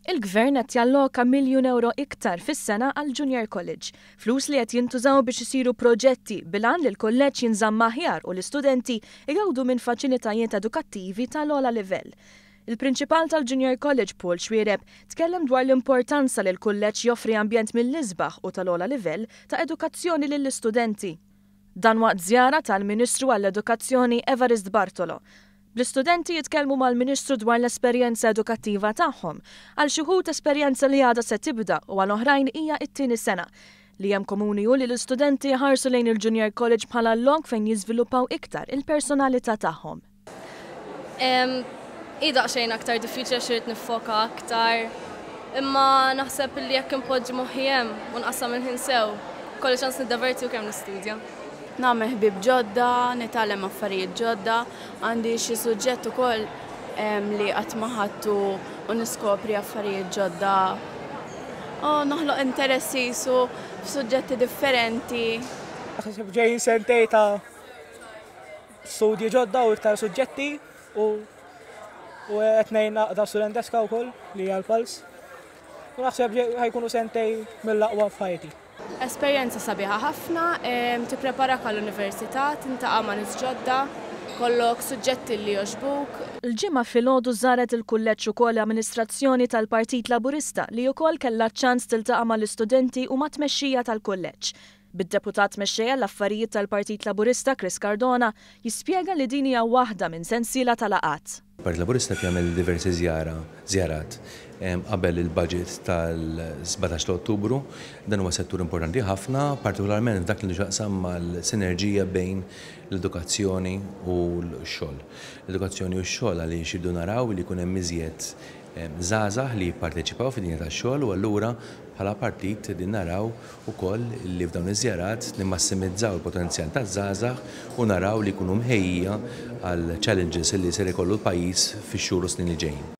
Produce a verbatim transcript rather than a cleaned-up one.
Il-Gvern qed jalloka miljun euro iktar fis-sena għal Junior College, flus li qed jintużaw biex isiru proġetti bil-għan li l-kulleġġ jinżamm aħjar u l-istudenti igawdu minn faċilitajiet edukattivi tal-ogħla livell. Il-prinċipal tal-Junior College, Paul Xuereb, tkellem dwar l-importanza li l-kulleġġ joffri ambjent mill-isbaħ u tal-ogħla livell ta' edukazzjoni lill-istudenti. Dan waqt żjara tal-Ministru għall-Edukazzjoni Evarist Bartolo. Bl-istudenti jitkellmu mal-Ministru dwar l-esperjenza edukattiva tagħhom, għal xi wħud esperjenza li għadha se tibda u għal oħrajn hija t-tieni sena. Li hemm komuni hu li l-istudenti jħarsu lejn il-Junior College bħala lok fejn jiżviluppaw iktar il-personalità tagħhom. Hi daqsxejn aktar diffiċli għax irid niffoka aktar, imma naħseb li jekk inpoġġi moħħi hemm u nqassam il-ħin sew, ikolli ċans niddeverti u kemm nistudja. Nagħmel ħbieb ġodda, nitgħallem affarijiet ġodda, għandi xi suġġett ukoll li qatt ma ħadtu u niskopri affarijiet ġodda. U noħloq interessi su f'suġġetti differenti. Naħseb ġejjin sentej ta' studji ġodda u iktar suġġetti u u qed ngħin naqda studenteska wkoll li hija l-Pulse. U naħseb ħa jkunu sentej mill-aqwa f'ħajti. Esperjenza sabiħa ħafna, tippreparak għall-università, tiltaqa' ma' nies ġodda, ikollok suġġetti li jogħġbuk. Il-Ġimgħa filgħodu żaret il-kulleġġ ukoll l-amministrazzjoni tal-Partit Laburista, li wkoll kellha ċans tiltaqa' mal-istudenti u mat-tmexxija tal-kulleġġ. Bid-deputat mexxejja l-affarijiet tal-Partit Laburista Chris Cardona jispjega li din hija waħda minn sensiela ta' laqgħat. Partit Laburista jagħmel diversi żjara, żjarat qabel il-budget tal-sbatax ta' Ottubru. Dan huwa settur importanti ħafna, partikolarment dak li xaqsam mal-sinerġija bejn l-edukazzjoni u l-xogħol. L-edukazzjoni u x-xogħol għaliex irridu naraw li jkun hemm iżjed żgħażagħ li jipparteċipaw fid-dinja tax-xogħol, u allura bħala partit din naraw ukoll li f'dawn iż-żjarat nimmassimizzaw il-potenzjal taż-żgħażagħ u naraw li jkunu mħejjija għal challenges li ser ikollu l-pajjiż fix-xhur u snin li ġejjin.